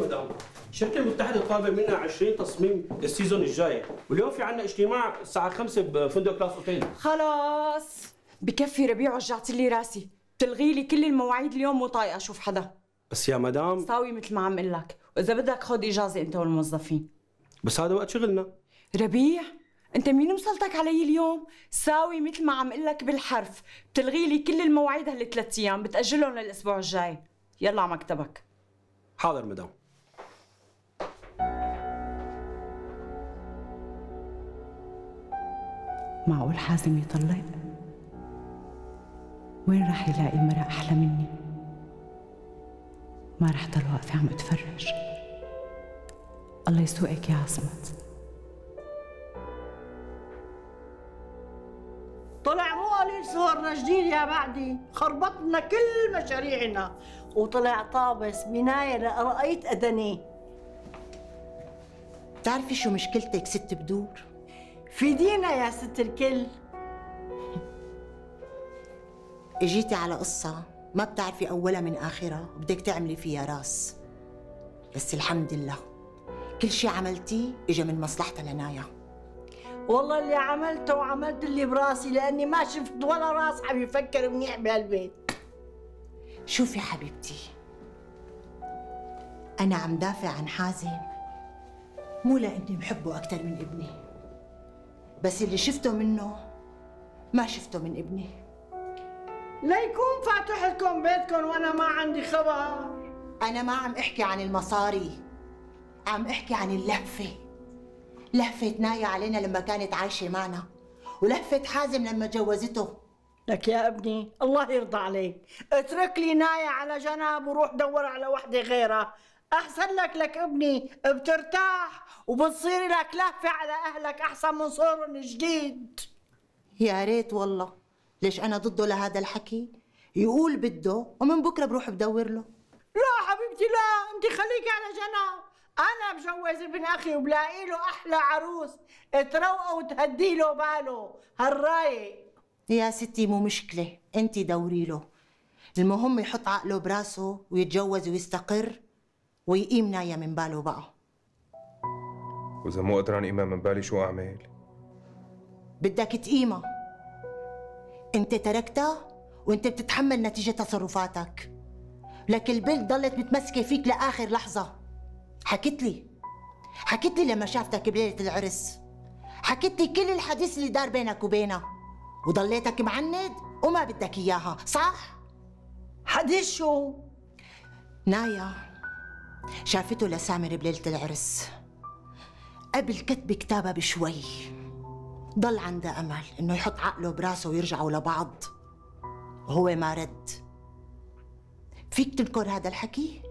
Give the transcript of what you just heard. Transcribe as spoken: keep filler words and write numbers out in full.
مدام، الشركة المتحدة طالبة منا عشرين تصميم السيزون الجاي، واليوم في عنا اجتماع الساعة خمسة بفندق كلاس اوتيل. خلاص بكفي ربيع، وجعت لي راسي، بتلغي لي كل المواعيد اليوم، مو طايقة اشوف حدا. بس يا مدام ساوي مثل ما عم اقول لك، واذا بدك خذ اجازة انت والموظفين. بس هذا وقت شغلنا. ربيع انت مين مسلطك علي اليوم؟ ساوي مثل ما عم اقول لك بالحرف، بتلغي لي كل المواعيد هالثلاث ايام، بتأجلهم للاسبوع الجاي. يلا على مكتبك. حاضر مدام. معقول حازم يطلق؟ وين راح يلاقي مرأة أحلى مني؟ ما رح ضل واقفة عم اتفرج. الله يسوقك يا عصمت. طلع مو قليل صورنا جديد يا بعدي، خربطنا كل مشاريعنا، وطلع طابس بناية لقرقية أدني. بتعرفي شو مشكلتك ست بدور؟ فيدينا يا ست الكل. اجيتي على قصة ما بتعرفي أولها من آخرها وبدك تعملي فيها راس، بس الحمد لله كل شي عملتيه إجا من مصلحتها لنايا. والله اللي عملته وعملت اللي براسي، لأني ما شفت ولا راس عم يفكر منيح بهالبيت. شوفي حبيبتي، أنا عم دافع عن حازم مو لأني بحبه أكثر من ابني، بس اللي شفته منه ما شفته من ابني. ليكون فاتح لكم بيتكم وأنا ما عندي خبر. أنا ما عم أحكي عن المصاري، عم أحكي عن اللهفة. لهفة نايا علينا لما كانت عايشة معنا، ولهفة حازم لما جوزته. لك يا ابني الله يرضى عليك، اترك لي نايا على جنب وروح دور على وحدة غيرها، أحسن لك. لك ابني بترتاح وبتصير لك لهفة على أهلك أحسن من صورهم جديد. يا ريت والله، ليش أنا ضده لهذا الحكي؟ يقول بده ومن بكرة بروح بدور له. لا حبيبتي لا، أنت خليكي على جنب. أنا بجوز ابن أخي وبلاقي له أحلى عروس تروقه وتهدي له باله هالرايق. يا ستي مو مشكلة، أنت دوري له، المهم يحط عقله براسه ويتجوز ويستقر ويقيم نايا من باله بقى. وإذا مو قدران قيمها من بالي شو أعمل؟ بدك تقيمها. أنت تركتها وأنت بتتحمل نتيجة تصرفاتك، لك البنت ضلت متمسكة فيك لآخر لحظة. حكيت لي حكيت لي لما شافتك بليلة العرس، حكيت لي كل الحديث اللي دار بينك وبينها، وضليتك معند وما بدك إياها، صح؟ حديث شو؟ نايا شافته لسامر بليلة العرس قبل كتب كتابها بشوي، ضل عندها أمل إنه يحط عقله براسه ويرجعوا لبعض، وهو ما رد. فيك تنكر هذا الحكي؟